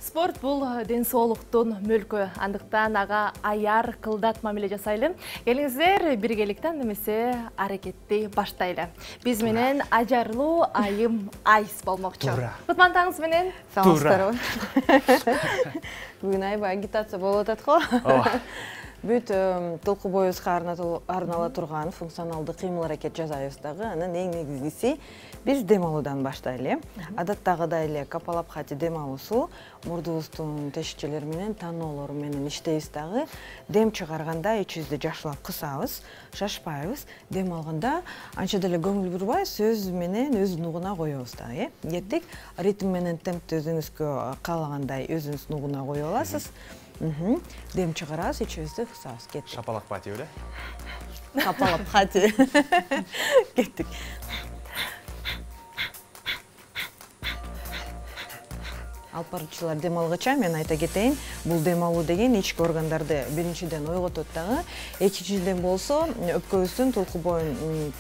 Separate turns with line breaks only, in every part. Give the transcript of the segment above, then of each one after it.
Спорт бул ден соолуктун мүлкү. Андыктан ага аяр кылдат мамиле жасайлы. Келиңиздер биргеликтен немесе аракетти баштайлы. Биз менен ажарлуу айым Айс болмокчу. Кутмандаңыз менен.
Саламатсыздарбы. Бүгүн аябай агитация болуп атат го. Бүт толку боюбузга арнала турган функционалдуу кыймыл-аракет жасайбыз дагы. Анан эң негизгиси биз дем алуудан баштайлы. Адаттагыдай эле капалабхати дем алуусу мурдубуздун тешикчелери менен таноолору менен иштейбиз дагы. Дем чыгарганда ичибизди жакшылап кысабыз, шашпайбыз. Дем алганда анча деле көңүл бурбай сөз менен өз нугуна коебуз дагы. Кеттик. Ритм менен темпти өзүңүзгө каалагандай өзүңүз нугуна кое аласыз. Дем чыгарабыз, ичибизди кысабыз. Кеттик.
Шапалакпати беле?
Капалабхати. Кеттик. Алып баруучулар дем алгыча мен айта кетейин, бул дем алуу деген ички органдарды биринчиден ойготот дагы, экинчиден болсо өпкөбүздүн толку боюн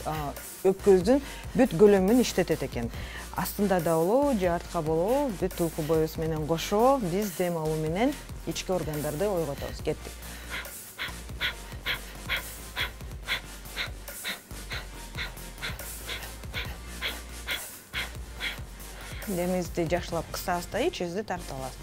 өпкөбүздүн бүт көлөмүн иштетет экен. Астында да болобу, же артка болобу, бүт толку боюбуз менен кошо биз дем алуу менен ички органдарды ойготобуз. Кеттик. Демибизди жакшылап кысабыз да ичибизди тартып алабыз.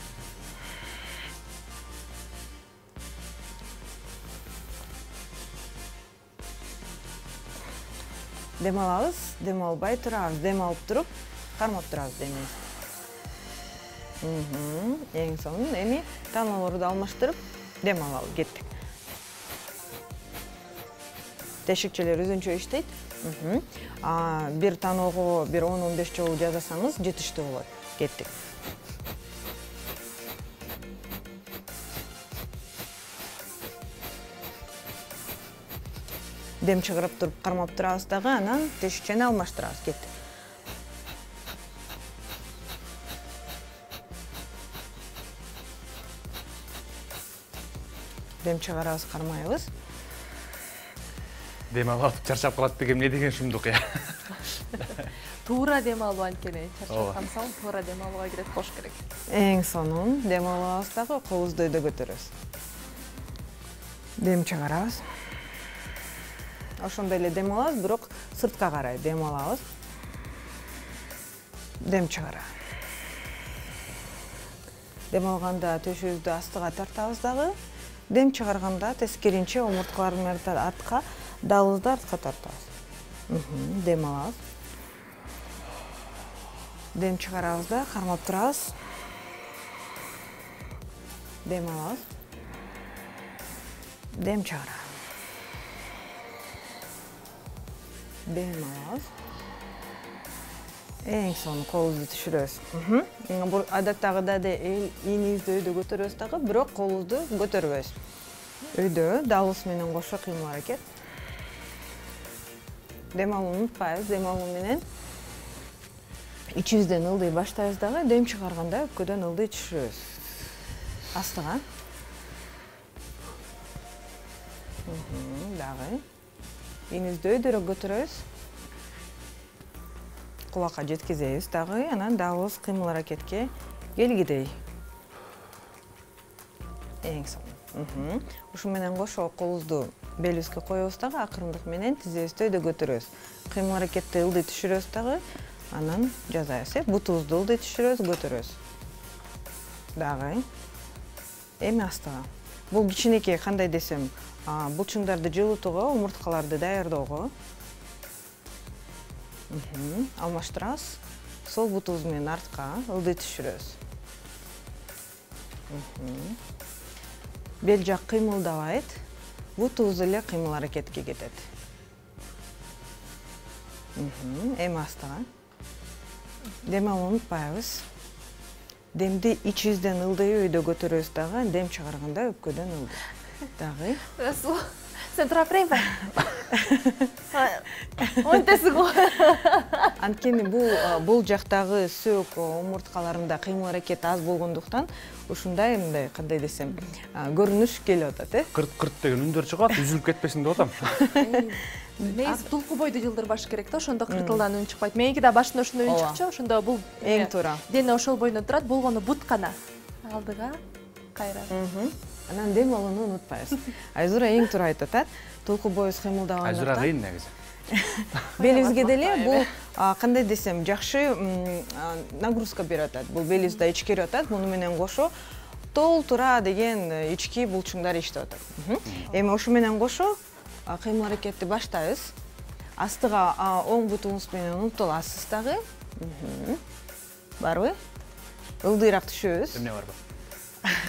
Дем алабыз, дем албай турабыз, дем алып туруп, кармап турабыз демибизди. Эң сонун эми таноолорду алмаштырып, дем алалы. Кеттик. Тешикчелер өзүнчө иштейт. Бир таноого бир 10-15 жолу жасасаңыз жетиштүү болот. Кеттик. Дем чыгарып туруп кармап турабыз дагы, анан тешикчени алмаштырабыз. Кеттик. Дем чыгарабыз, кармайбыз.
Дем алып чарчап калат деген эмне деген шумдук я.
Туура дем алуу анткени чарчап калсаң туура дем алууга кирет болуш керек.
Эң сонун дем алабыз дагы, колубузду өйдө көтөрөбүз. Дем чыгарабыз. Ошондой эле дем алабыз, бирок сыртка карай дем алабыз. Дем чыгарабыз. Дем алганда төшүбүздү астыга тартабыз дагы. Дем чыгарганда тескеринче омурткаларды артка, далыбызды артка тартабыз. Дем алабыз. Дем чыгарабыз да, кармап турабыз. Дем алабыз. Дем чыгарабыз. Дем алабыз. Эң сонун колубузду түшүрөбүз. Адаттагыдай ийнибизди өйдө көтөрөбүз дагы, бирок колубузду көтөрбөйбүз. Өйдө далыбыз менен кошо кыймыл-аракет. Дем алууну унутпайбыз. Дем алуу менен ичибизден ылдый баштайбыз дагы, дем чыгарганда өпкөдөн ылдый түшүрөбүз. Астыга. Дагы. Ийнибизди өйдөрөөк көтөрөбүз. Кулакка жеткизебиз дагы, анан далыбыз кыймыл-аракетке келгидей. Эң сонун. Ушу менен кошо колубузду белибизге коебуз дагы, акырындык менен тизебизди өйдө көтөрөбүз. Кыймыл-аракетти ылдый түшүрөбүз дагы, анан жасайбыз. Бутубузду ылдый түшүрөбүз, көтөрөбүз. Дагы. Эми астыга. Бул кичинекей кандай десем, булчуңдарды жылытууга, омурткаларды даярдоого. Алмаштырабыз. Сол бутубуз менен артка ылдый түшүрөбүз. Бел жак кыймылдабайт. Бутубуз эле кыймыл-аракетке кетет. Эми астыга. Дем алууну унутпайбыз. Демди ичибизден ылдый өйдө көтөрөбүз дагы, дем чыгарганда өпкөдөн ылдый. Дагы.
Сен тура берейинби? Онтеси го.
Анткени бул жактагы сөөк омурткаларында кыймыл-аракет аз болгондуктан ушундай мындай кандай десем, көрүнүш келип атат,
Кырт деген үндөр чыгат, үзүлүп кетпесин деп атам.
Негизи тулку бойду жылдырбаш керек да, ошондо кыртылдан үн чыкпайт. Меники да башында ошондой үн чыкчу, ошондо бул
эң туура.
Дене ошол бойдон турат, болгону бут гана. алдыга кайра.
Анан дем алууну унутпайбыз. Айзура эң туура айтып атат. Толку боюз кыймылдаганда.
Айзура кыйын негизи.
Белибизге деле бул кандай десем, жакшы нагрузка берип атат. Бул белибизди ичкерип атат. Муну менен кошо толтура деген ички булчуңдар иштеп атат. Эми ошо менен кошо кыймыл аракетти баштайбыз. Астыга оң бутуңуз менен умтул аласыз дагы. Барбы? Ылдыйраак түшөбүз.
Эмне барбы?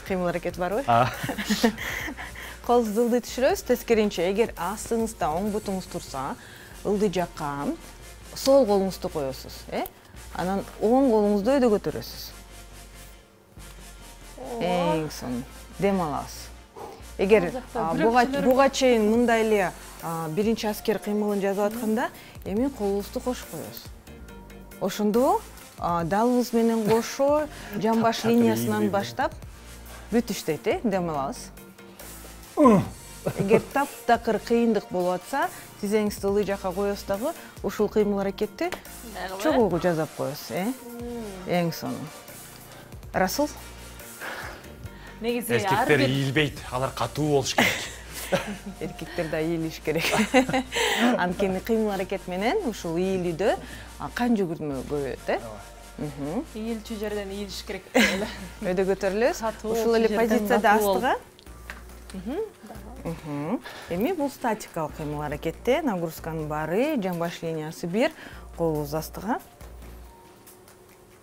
Кыймыл аракет барбы? Колубузду ылдый түшүрөбүз. Тескеринче, эгер астыңызда оң бутуңуз турса, ылдый жакка сол колуңузду коесуз, Анан оң колуңузду өйдө көтөрөсүз. Эң сонун дем алабыз. Эгер буга чейин мындай эле биринчи аскер кыймылын жазып атканда, эми колубузду кошуп коебуз. Ошондо далыбыз менен кошо жамбаш линиясынан баштап бүт иштейт, дем алабыз. Эгер таптакыр кыйындык болуп атса, тизеңизди ылдый жакка коесуз дагы, ушул кыймыл аракетти чогуу жасап коесуз, Эң сонун. Расул?
Негизи
Эркектер ийилбейт, алар катуу болуш керек.
Эркектер да ийилиш керек. Анткени кыймыл аракет менен ушул ийилүүдө кан жүгүрмө көбөйөт,
ийилчү жерден ийилиш керек эле.
Өйдө көтөрүлөбүз. Ушул эле позицияда астыга. Эми бул статикалык кыймыл аракетте нагрузканын баары, жамбаш линиясы 1, колубуз астыга.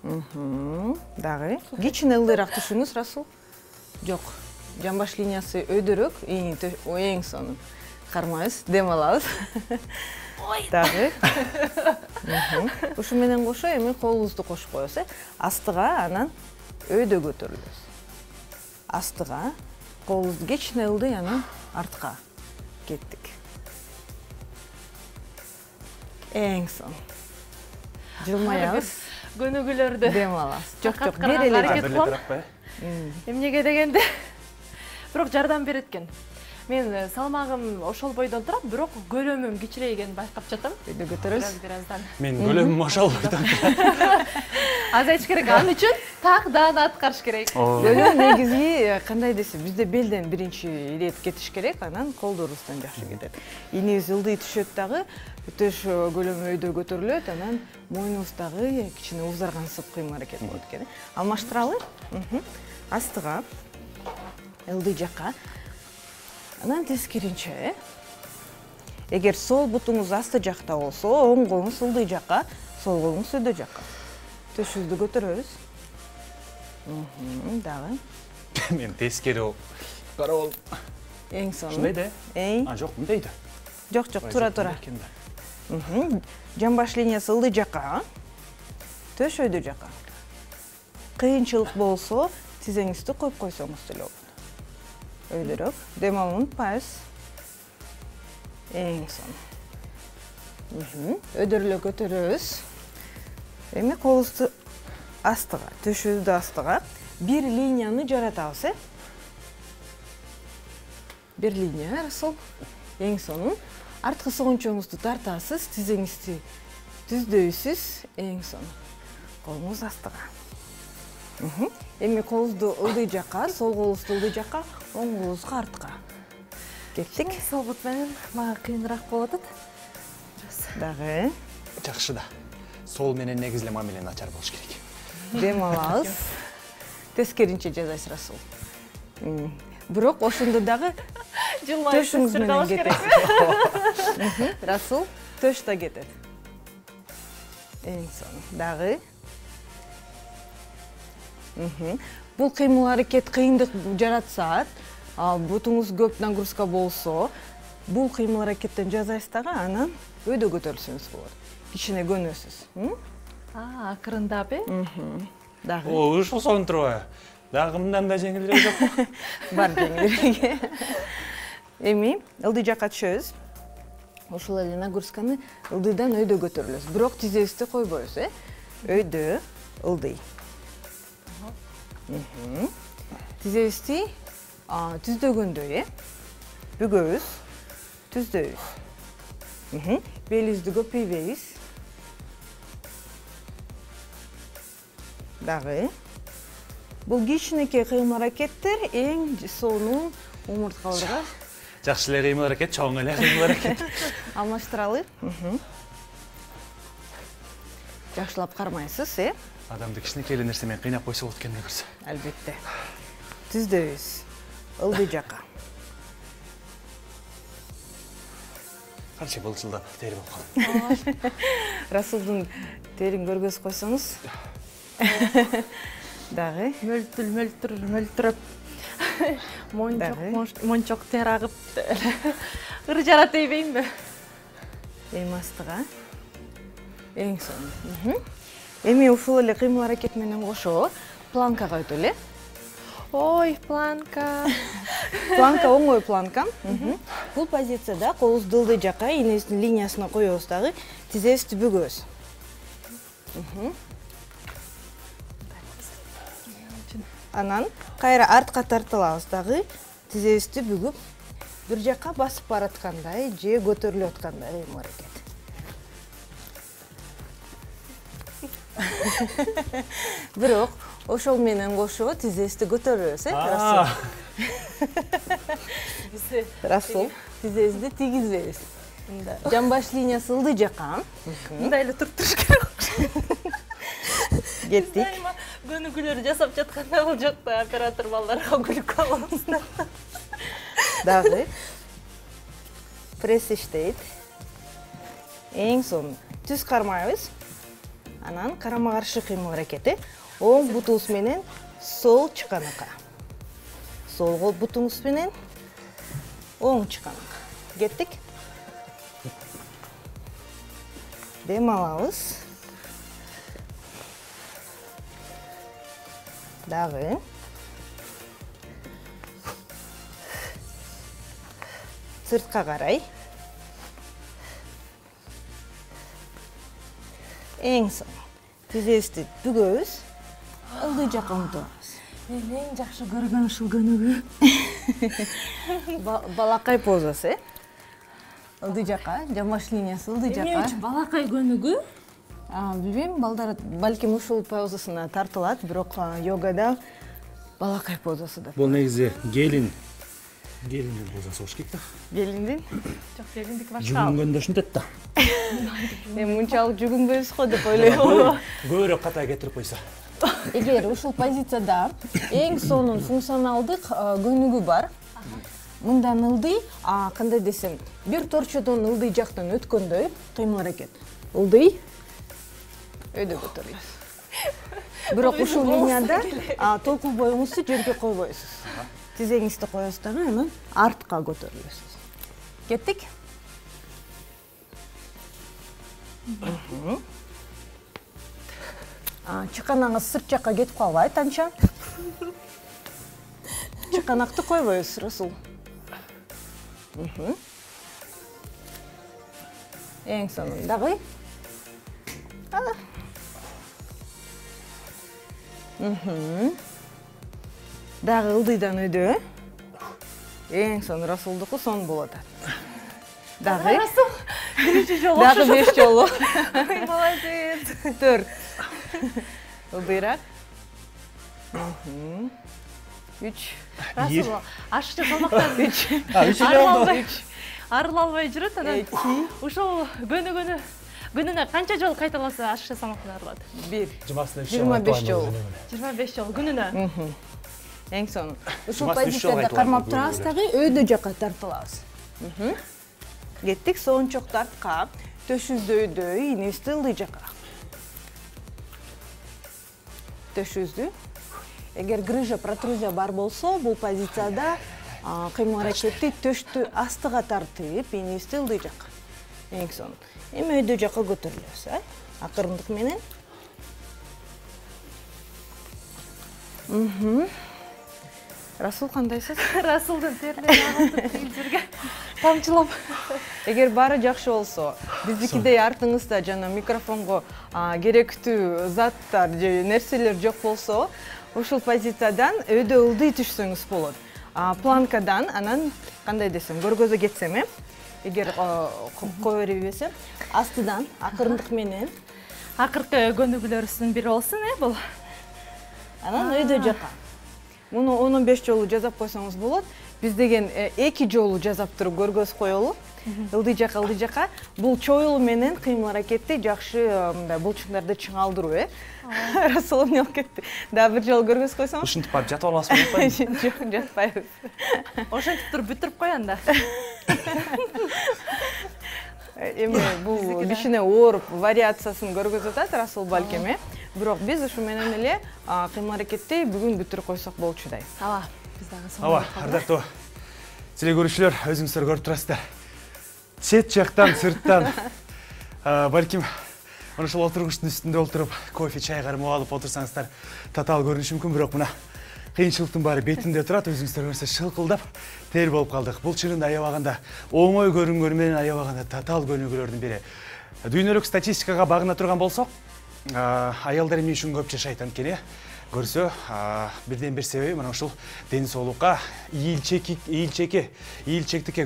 Дагы. Кичине ылдыйраак түшүңүз, Расул. Жок. Жамбаш линиясы өйдөрөөк, эң сонун. Кармайбыз, дем алабыз. Дагы. Ушу менен кошо эми колубузду кошуп коебуз, Астыга, анан өйдө көтөрүлөбүз. Астыга, колубузду кичине ылдый, анан артка кеттик. Эң сонун. Жылмаябыз.
Көнүгүүлөрдү
дем алабыз. Жок, бир эле
аракет кылам. Эмнеге дегенде бирок жардам берет экен. Мен салмагым ошол бойдон турат, бирок көлөмүм кичирейгенин байкап жатам.
Өйдө көтөрөбүз.
Бираздан.
Мен көлөмүм ошол бойдон.
Азайтыш керек, ал үчүн так даана аткарыш керек.
Көлөм негизи кандай десе, бизде белден биринчи ирет кетиш керек, анан колдорубуздан жакшы кетет. Инибиз ылдый түшөт дагы, өтөш көлөмү өйдө көтөрүлөт, анан мойнубуз дагы кичине узаргансып кыймыл аракет болот экен. Алмаштыралы. Астыга, ылдый жакка. Анан тескеринче, эгер сол бутуңуз асты жакта болсо, оң колуңуз ылдый жакка, сол колуңуз өйдө жакка. Төшүбүздү көтөрөбүз. Дагы.
Мен тескери карап алып.
Эң сонун.
Ушундай да? Жок, мындай да.
Жок, тура. Жамбаш линиясы ылдый жакка, төш өйдө жакка. Кыйынчылык болсо, тизеңизди коюп койсоңуз деле болот. Өйдөрөөк, дем алууну унутпайбыз. Эң сонун. Өйдөрүлө көтөрөбүз. Эми колубузду астыга, төшүбүздү астыга бир линияны жаратабыз, Бир линия, Расул. Эң сонун. Арткы согончоңузду тартасыз, тизеңизди түздөйсүз, эң сонун. Колуңуз астыга. Эми колубузду ылдый жакка, сол колубузду ылдый жакка, оң колубузга артка. Кеттик.
Сол бут менен мага кыйыныраак болуп атат.
Дагы.
Жакшы да. Сол менен негизи эле мамиле начар болуш керек.
Дем алабыз. Тескеринче жасайсыз, Расул. Бирок ошондо дагы төшүңүз менен кетесиз. Расул, төш да кетет. Эң сонун. Дагы. Бул кыймыл аракет кыйындык жаратса, бутуңуз көп нагрузка болсо, бул кыймыл аракеттен жасайсыз дагы, анан өйдө көтөрүлсөңүз болот. Кичине көнөсүз.
Акырындап,
Дагы.
Ушул сонун турбайбы? Дагы мындан да жеңилирээк жокпу?
Бар жеңилирээк. Эми ылдый жакка түшөбүз. Ушул эле нагрузканы ылдыйдан өйдө көтөрүлөбүз. Бирок тизебизди койбойбуз, Өйдө, ылдый. Тизебизди түздөгөндөй, бүгөбүз, түздөйбүз. Белибизди көпөйбөйбүз. Дагы. Бул кичинекей кыймыл-аракеттер эң сонун умурткаларга
Жакшы эле кыймыл-аракет, чоң эле кыймыл-аракет.
алмаштыралы. Жакшылап кармайсыз,
Адамды кичинекей эле нерсе менен кыйнап койсо болот экен көрсө.
Албетте. Түздөбүз. Ылдый жака.
Канча былчылдап тери болуп калды.
Расулдун терин көргөзүп койсоңуз. Дагы
мөлтүрөп мончок тер агып ыр жарат дейбейинби?
Эң астыга. Эң сонун. Эми ушул эле кыймыл-аракет менен кошо планкага өтөлү.
Ой, планка.
Планка оңой планка. Бул позицияда колубузду ылдый жака инебиздин линиясына коебуз дагы тизебизди бүгөбүз. Анан кайра артка тартылабыз дагы тизебизди бүгүп бир жака басып бараткандай же көтөрүлүп аткандай кыймыл-аракет. Бирок ошол менен кошо тизебизди көтөрөбүз, Расул, тизебизди тийгизбейбиз. Жамбаш линиясы ылдый жака.
Мындай эле туруп туруш керек.
Кеттик.
Көнүгүүлөр жасап жатканда бул жакта оператор балдарга күлүп калабыз.
Дагы пресс иштейт. Эң сонун. Түз кармайбыз. Анан карама-каршы кыймыл-аракети. Оң бутубуз менен сол чыканакка. Сол кол бутуңуз менен оң чыканакка. Кеттик. Дем алабыз. Дагы. Сыртка карай. Эң сонун. Тизебизди бүгөбүз. Ылдый жака умтулабыз.
Мен эң жакшы көргөн ушул көнүгүү.
Балакай позасы. Ылдый жака, жамбаш линиясы ылдый жака.
Эмне үчүн балакай көнүгүү?
Билбейм, балдар балким ушул позасына тартылат, бирок йогада балакай позасы да.
Бул негизи гелиндин позасы болуш керек да.
Гелиндин?
Жок, гелиндики башка.
Жүгүнгөндө ушинтет да.
Эми мынчалык жүгүнбөйбүз го деп ойлойм.
Көбүрөөк ката кетирип койсо.
Эгер ушул позицияда эң сонун функционалдык көнүгүү бар. Мындан ылдый, кандай десем, бир торчодон ылдый жактан өткөндөй кыймыл-аракет. Ылдый өйдө көтөрүлөт. Бирок ушул линияда толкун боюңузду жерге койбойсуз. Тизеңизди коесуз дагы, анан артка көтөрүлөсүз. Кеттик. Чыканагыңыз сырт жакка кетип калбайт анча. Чыканакты койбойбуз, Расул. Эң сонун дагы. Дагы ылдыйдан өйдө. Эң сонун Расулдуку сонун болот. Дагы.
Расул, биринчи жолу.
Дагы 5 жолу.
Молодец.
4. Ылдыйраак. 3.
Расул, ашыкча салмактан
3.
арыла албай жүрөт, анан ушул күнүнө канча жолу кайталаса ашыкча салмактан арылат?
1.
25
жолу.
25 жолу күнүнө.
Эң сонун. Ушул позицияда кармап турабыз дагы өйдө жакка тартылабыз. Кеттик, соончок тартка, төшүздү өйдө, инебизди ылдый жакка. Төшүздү. Эгер грыжа, протрузия бар болсо, бул позицияда кыймыл-аракетти төштү астыга тартып, инебизди ылдый жакка. Эң сонун. Эми өйдө жакка көтөрүлөбүз, акырындык менен. Расул кандайсыз?
Расулдун терлери агылтып кийимдерге тамчылап.
Эгер баары жакшы болсо, биздикидей артыңызда жана микрофонго керектүү заттар же нерселер жок болсо, ушул позициядан өйдө ылдый түшсөңүз болот. Планкадан анан кандай десем, көргөзө кетсем, эгер кое бербесем, астыдан акырындык менен
акыркы көнүгүүлөрүбүздүн бири болсун, бул.
Анан өйдө жакка. Муну 10-15 жолу жасап койсоңуз болот. Биз деген 2 жолу жасап туруп көргөз коелу. Ылдый жака. Бул чоюлуу менен кыймыл аракетти жакшы мындай булчуңдарды чыңалдыруу, Расул эмне болуп кетти? Дагы бир жолу көргөз койсоңуз.
Ушинтип барып жатып аласызбы, атпайбы?
Жок, жатпайбыз.
Ошентип туруп бүтүрүп кой анда.
Эми бул кичине оор вариациясын көргөзүп атат Расул балким, Бирок биз ушу менен эле кыймыл аракетти бүгүн бүтүрүп койсок болчудай.
Ооба, биз дагы
Ооба, ардактуу телекөрүүчүлөр, өзүңүздөр көрүп турасыздар. Чет жактан, сырттан балким ошол отургучтун үстүндө отуруп, кофе, чай кармап алып отурсаңыздар татаал көрүнүшү мүмкүн, бирок мына кыйынчылыктын баары бетинде турат, өзүңүздөр көрсө шылкылдап тер болуп калдык. Бул чынында аябаганда оңой көрүнгөнү менен аябаганда татаал көнүгүүлөрдүн бири. Дүйнөлүк статистикага багына турган болсок, аялдар эмне үчүн көп жашайт анткени көрсө, бирден бир себеби мына ушул ден соолукка, ийилчектикке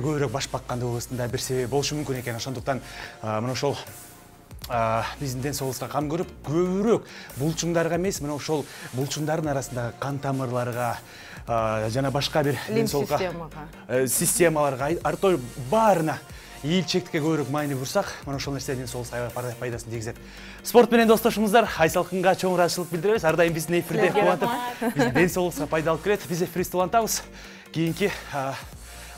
көбүрөөк баш баккандыгыбыздын да бир себеби болушу мүмкүн экен. Ошондуктан мына ошол биздин ден соолугубузга кам көрүп, көбүрөөк булчуңдарга эмес, мына ошол булчуңдардын арасындагы кан тамырларга жана башка бир ден соолукка системаларга артоо баарына ийилчектикке көбүрөөк маани бурсак, мына ошол нерсе ден соолугубузга аябай пайдасын тийгизет. Спорт менен достошубуздар, Айсалкынга чоң ыраазычылык билдиребиз. Ар дайым биздин эфирде кубатып, биздин ден соолугубузга пайда алып келет. Биз эфирибизди улантабыз. Кийинки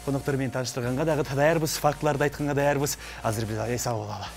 коноктор менен тааныштырганга дагы даярбыз, фактыларды айтканга даярбыз. Азыр биз эс алып алалы.